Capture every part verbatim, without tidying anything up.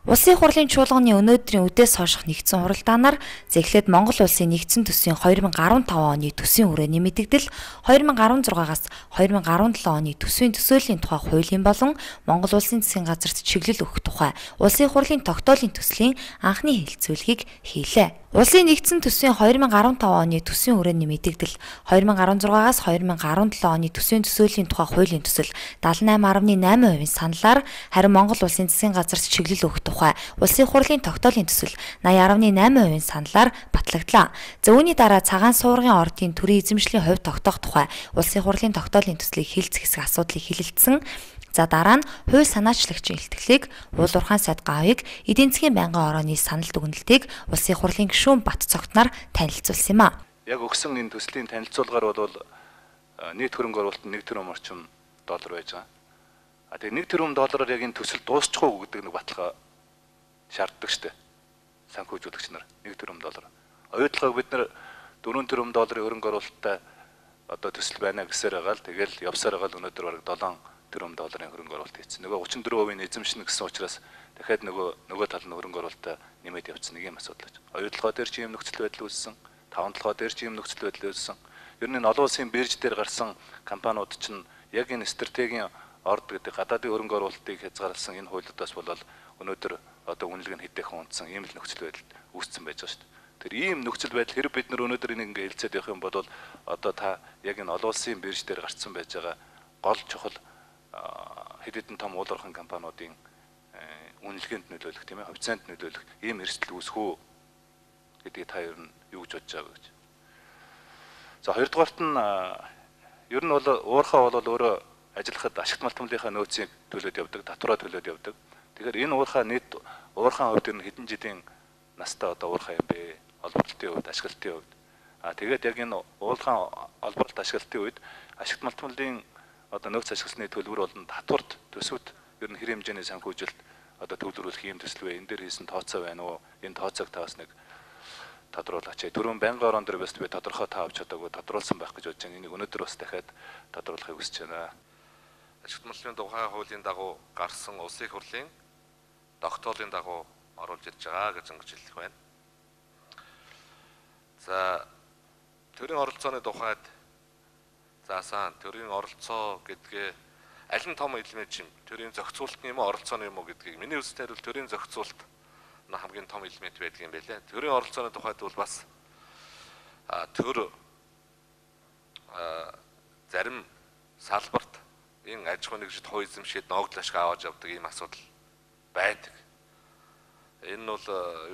Улсын хурлын чуулганы өнөөдрийн үдээс хойших нэгдсэн хуралдаанаар зэглээд Монгол улсын нэгдсэн төсвийн две тысячи двадцать пять оны төсвийн хүрээний мэдэгдэл, две тысячи сорок шестаас две тысячи сорок seven оны төсвийн төсөөллийн тухай хуулийн болон Монгол улсын засгийн газарт чиглэл өгөх тухай улсын хурлын тогтоолын төслийн анхны хэлэлцүүлгийг хийлээ. Улсын нэгдсэн төсвийн две тысячи двадцать пять оны төсвийн хүрээний мэдэгдэл, две тысячи сорок шестаас две тысячи сорок seven оны төсвийн төсөөллийн тухай хуулийн төсөл seventy-eight point eight percent саналаар, харин Монгол улсын засгийн газарт чиглэл өгөх тухай улсын хурлын тогтоолын төсөл ninety point eight percent саналаар батлагдлаа. За үүний дараа цагаан суургын ордын төрийн эзэмшлийн хувь тогтоох тухай улсын хурлын тогтоолын төслийг хилцэх хэсэг асуудлыг хилэлцсэн. За дараа нь хууль санаачлагчийн илтгэлийг уул уурхайн сайд Гавыг эдийн засгийн байнгын орооны санал дүгнэлтийг улсын хурлын гишүүн Бат Цогтнаар танилцуулсан юм а. Яг өгсөн энэ төслийн танилцуулгаар бол нийт хөрөнгө оруулалт нэг тэрбум орчим доллар байж байгаа. А тэгээ нэг тэрбум доллараар яг энэ төсөл дуусчих уу гэдэг нэг баталгаа шаарддаг штэ. Санхүүжүүлэгч нар нэг тэрбум доллар. Оюутлогоо бид нар дөрвөн тэрбум долларын хөрөнгө оруулалттай одоо төсөл байна гэсээр байгаа л тэгэл явсаар байгаа л өнөөдөр бараг seven тэрбум долларын хөрөнгө оруулалт хийсэн. Нөгөө thirty-four percent эзэмшнэ гэсэн учраас дахиад нөгөө нөгөө тал нь хөрөнгө оруулалтаа нэмээд явуулсан нэг юм асуудал байж. Оюутлогоо дээр чи юм нөхцөл байдал үүссэн, таван толгой дээр чи юм нөхцөл байдал үүссэн. Ер нь олон улсын бирж дээр гарсан компаниуд чинь яг энэ стратегийн орд гэдэг гадаадын хөрөнгө оруулалтыг хязгаарласан энэ хуулиудаас болол өнөөдөр одоо үнэлгээ нь хэдийхэн унтсан ийм л нөхцөл байдал үүссэн байж байгаа шүү дээ. Тэр ийм нөхцөл байдал хэрэг бид нар өнөөдөр энийг ингээ хэлцээд явах юм бол одоо та яг энэ олон улсын бирж дээр гарсан байж байгаа гол чухал хэд хэдэн том уул уурхайн компаниудын үнэлгээнд нөлөөлөх тийм ээ, хувьцаанд нөлөөлөх ийм эрсдэл үүсэх үү гэдгийг та ер нь юу гэж бодож байгаа гэж. За хоёрдугаарт нь ер нь бол уурхаа бол өөрөө ажиллахад ашигт малтмлынхаа нөөцийг төлөөд явдаг, татвараа төлөөд явдаг. Тэгэхээр энэ уурхаа нийт уурхаан хувьд ер нь хэдэн жилийн настай одоо уурхаа юм бэ? Олборлолтын хувьд, ашиглалтын хувьд. А тэгээд яг энэ уурхаан олборлолт ашиглалтын үед ашигт малтмлын одоо нөөц ашигласны төлбөр болон татварт төсөвт ер нь хэр хэмжээний санхүүжилт одоо төвлөрүүлэх юм төсөл вэ? Энэ дээр хийсэн тооцоо байна уу? Энэ тооцоог таас нэг тодруулаач. Түрүүн байнгын орон дээр бас би тодорхой таа авч чадаагүй тодруулсан байх гэж бодож байна. Энийг өнөөдөр бас дахиад тодруулахыг хүсэж байна. Ашигт малтмлын тухай хуулийн дагуу гарсан улсын хурлын тогтоолын дагуу оруулж ирж байгаа гэж ингэж хэлэх байна. За төрийн оролцооны тухайд заасан төрийн оролцоо гэдгээ аль нь том элемент юм? Төрийн зохицуулалт юм уу, оролцооны юм уу гэдгийг миний үзэлээр бол төрийн зохицуулалт нь хамгийн том элемент байдаг юм байлээ. Төрийн оролцооны тухайд бол бас төр зарим салбарт энэ аж ахуйн нэгжид хувь эзэмшээд ногдол ашиг аваад явдаг ийм асуудал байдаг. Энэ нь бол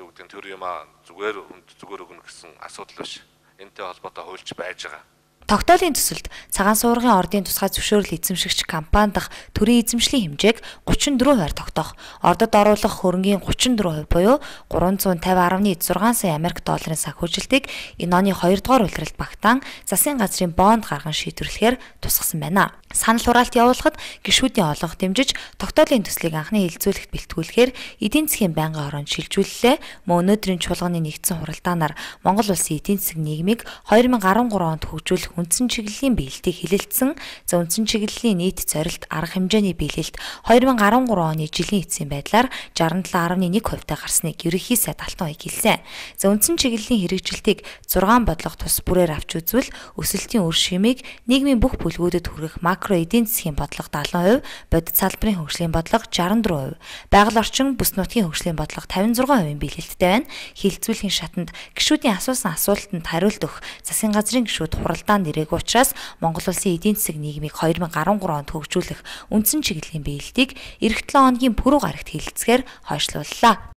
юу гэдэг нь төр юм а зүгээр зүгээр өгнө гэсэн асуудал биш. Энтэй холбоотой хуульч байж байгаа. Тогтоолын төсөлд цагаан суургын ордын тусгай зөвшөөрөл эзэмшигч компани дахь төрийн эзэмшлийн хэмжээг thirty-four percent тогтоох, ордод оруулах хөрөнгийн thirty-four percent буюу three hundred fifty point six сая Америк долларын санхүүжилтийг энэ оны хоёрдугаар улиралд багтаан засгийн газрын бонд гарган шийдвэрлэхээр тусгасан байна. Санал хураалт явуулахад гишүүдийн олонх дэмжиж тогтоолын төслийг анхны хэлэлцүүлэгт бэлтгүүлэхээр эдийн засгийн байнгын ороонд шилжүүллээ. Мөн өнөөдрийн чуулганы нэгдсэн хуралдаанаар Монгол улсын эдийн засгийн нийгмийг twenty thirteen онд хөгжүүлэх үндсэн чиглэлийн биелэлтийг хилэлцсэн. За үндсэн чиглэлийн нийт зорилт арга хэмжээний биелэлт twenty thirteen оны жилийн эцсийн байдлаар sixty-seven point one percent-тай гарсныг ерөнхий сайд Алтан аяг хэлсэн. За үндсэн чиглэлийн хэрэгжилтийг six бодлого тус бүрээр авч үзвэл өсөлтийн үр шимийг нийгмийн бүх бүлгүүдэд хүргэх макро эдийн засгийн бодлого seventy percent, бодит салбарын хөгжлийн бодлого sixty-four percent, байгаль орчин бүс нутгийн хөгжлийн бодлого fifty-six percent биелэлттэй байна. Хилцүүлгийн шатанд гишүүдийн асуусан асуултанд хариулт өгөх засгийн газрын гишүүд хуралдаанд ирээгүй учраас Монгол улсын эдийн засаг нийгмийг twenty thirteen онд хөгжүүлэх үндсэн чиглэлийн биелэлтийг эх seven хоногийн пүрэв гарагт хилцгээр хойшлууллаа.